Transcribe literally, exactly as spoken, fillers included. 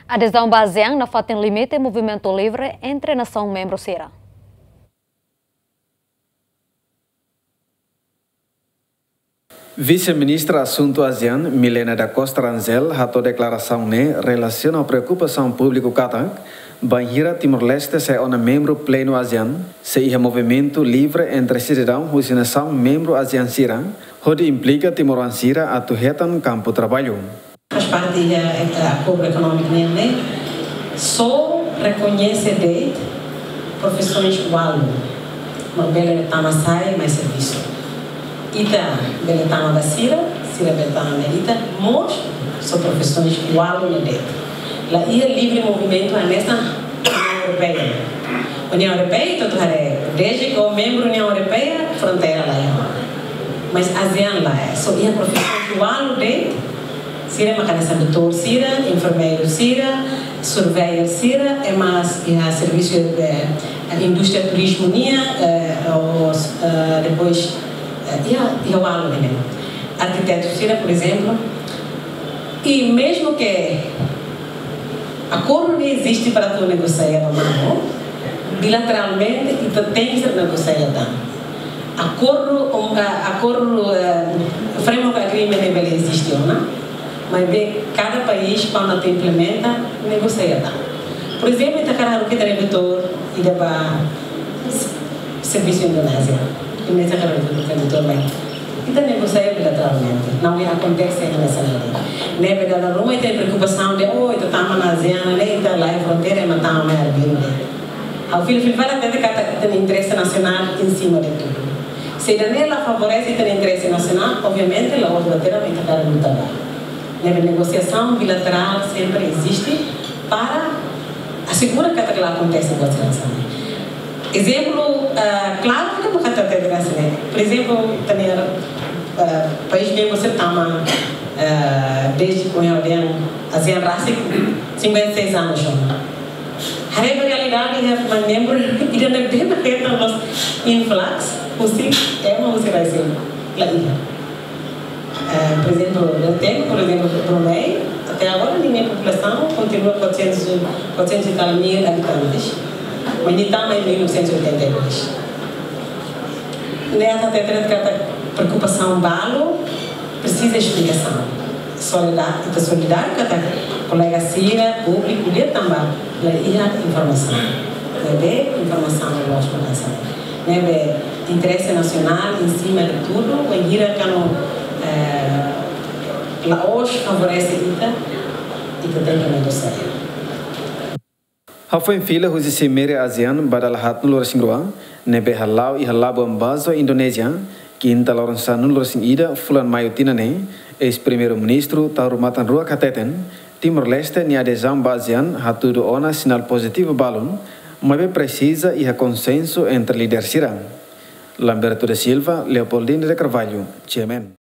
Adezaun ba ASEAN nafatin limite movimentu livre entre nasaun membru sira. Vise-Ministra Asuntu ASEAN, Milena da Costa Rangel, hato'o deklarasaun ne'e relasiona ho preokupasaun públiku katak, bainhira Timor-Leste sai ona membru plenu ASEAN, sei iha movimentu livre entre sidadaun husi nasaun membru ASEAN sira, hodi implika timoroan sira atu hetan kampu traballu. Faz parte da, eh, acordo económico ne'e, ne'e só rekoñese de'it profissões ualu mak bele tama sai mai servisu. Ita bele tama ba sira, sira bele tama ba ita, mós só profissões ualu ne'e de'it. La iha livre movimentu hanesan União Europeia. União Europeia, ita haree, desde ke membru União Europeia, fronteira la iha. Mas ASEAN lae, só iha profissões ualu de'it, sira mak hanesan doutór sira, enfermeiru sira, surveyor sira, i mós iha servisu, eh, indústria turizmu nian, eh, os, eh, depois, eh, iha, iha ualu ne'e. Arkitetu sira, por ezemplu, i mezmu ke akordu ne'e eziste para atu negosia ba manu, bilateralmente ita tenke negosia tan. Akordu, um, ah, akordu, eh, framework agreement ne'e bele eziste ona, maibé kada país kuandu atu implementa, negosia tan. Por ezemplu, ita hakarak haruka ita-nia doutór ida ba s-, servisu Indonézia. Indonézia hakarak haruka ita-nia doutór mai. Ita negosia bilateralmente. Não é akontese hanesan ne'e. Ne'ebé dala ruma ita preokupasaun dehan, oh, ita tama ona ASEAN ne'e, ita laiha fronteira, ema tama mai arbiru ne'e. Ha'u fila-fila fali hatete katak ita-nia interese nasionál em cima de tudo. Se ida-ne'e la favorese ita-nia interese nasionál, obviamente, la'ós bainhira ita hakarak luta ba. Ne'ebé negosiasaun bilaterál sempre eziste para asegura katak la akontese buat sira hanesan ne'e. Ezemplu, ah, klaru ke bukan tete hanesan ne'e. Por ezemplu, ita-nia, ah, país membru sira tama, ah, desde kuandu ASEAN rasik, cinquenta e seis anos ona. Haree ba realidade, iha membru ida-ne'ebé hetan influx husi ema husi rai seluk, la iha. Eh, por ezemplu, ita-nia, por ezemplu, Brunei, até agora, ninia populasaun kontinua quatrocentos, quatrocentos e tal mil habitantes, mas nia tama iha mil novecentos e oitenta e dois. Ne'e ita hatete katak preokupasaun balu presiza esplikasaun. Solidá-, ita solidáriu katak kolega sira, públiku, nia tanba la iha informasaun. Ne'ebé informasaun loos ba nasaun. Ne'ebé interese nasionál, em cima de tudo, bainhira kuandu, eh, la'ós favorese ita, ita tenke negosia. Hafoin fila husi Simeire ASEAN ba dala haatnulu-resin-rua, ne'ebé hala'o iha Labuan Bajo, Indonézia, kinta loron sanulu-resin-ida fulan Maiu tinan ne'e, eis-Primeiru-Ministru Taur Matan Ruak hateten, Timor-Leste nia adezaun ba ASEAN hatudu ona sinál pozitivu balun, maibé presiza iha konsensu entre líder sira. Lamberto da Silva, Leopoldina de Carvalho, GMN.